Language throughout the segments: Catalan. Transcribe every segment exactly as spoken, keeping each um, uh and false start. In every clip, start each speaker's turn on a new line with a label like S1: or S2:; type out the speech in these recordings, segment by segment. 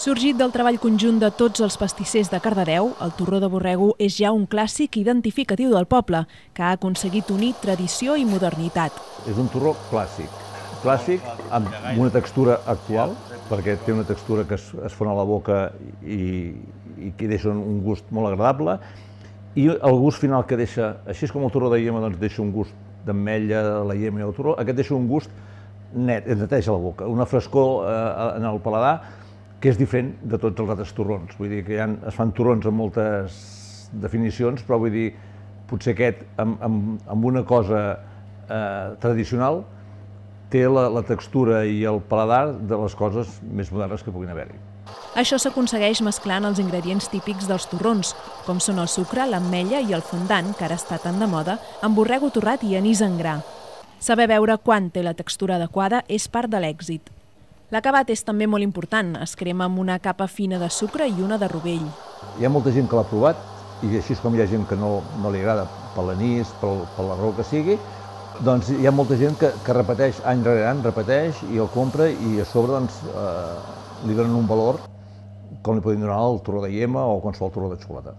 S1: Sorgit del treball conjunt de tots els pastissers de Cardedeu, el torró de borrego és ja un clàssic identificatiu del poble, que ha aconseguit unir tradició i modernitat.
S2: És un torró clàssic, clàssic amb una textura actual, perquè té una textura que es, es fon a la boca i, i que deixa un gust molt agradable, i el gust final que deixa, així com el torró de iema doncs deixa un gust d'ametlla, la iema i el torró, aquest deixa un gust net, et neteja la boca, una frescor eh, en el paladar, que és diferent de tots els altres torrons. Vull dir que ha, es fan torrons amb moltes definicions, però vull dir, potser aquest, amb, amb, amb una cosa eh, tradicional, té la, la textura i el paladar de les coses més modernes que puguin haver-hi.
S1: Això s'aconsegueix mesclant els ingredients típics dels torrons, com són el sucre, l'ametlla i el fondant, que ara està tan de moda, amb borrego torrat i anís en gra. Saber veure quan té la textura adequada és part de l'èxit. L'acabat és també molt important, es crema amb una capa fina de sucre i una de rovell.
S2: Hi ha molta gent que l'ha provat, i així com hi ha gent que no, no li agrada per l'anís, per, per la raó que sigui, doncs hi ha molta gent que, que repeteix any rere any, repeteix i el compra i a sobre doncs, eh, li donen un valor com li poden donar el torró de iema o qualsevol torró de xocolata.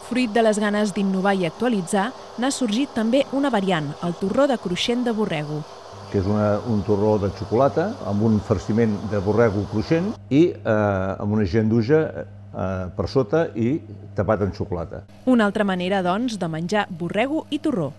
S1: Fruit de les ganes d'innovar i actualitzar, n'ha sorgit també una variant, el torró de cruixent de borrego,
S2: que és una, un torró de xocolata amb un farciment de borrego cruixent i eh, amb una genduja eh, per sota i tapat en xocolata.
S1: Una altra manera, doncs, de menjar borrego i torró.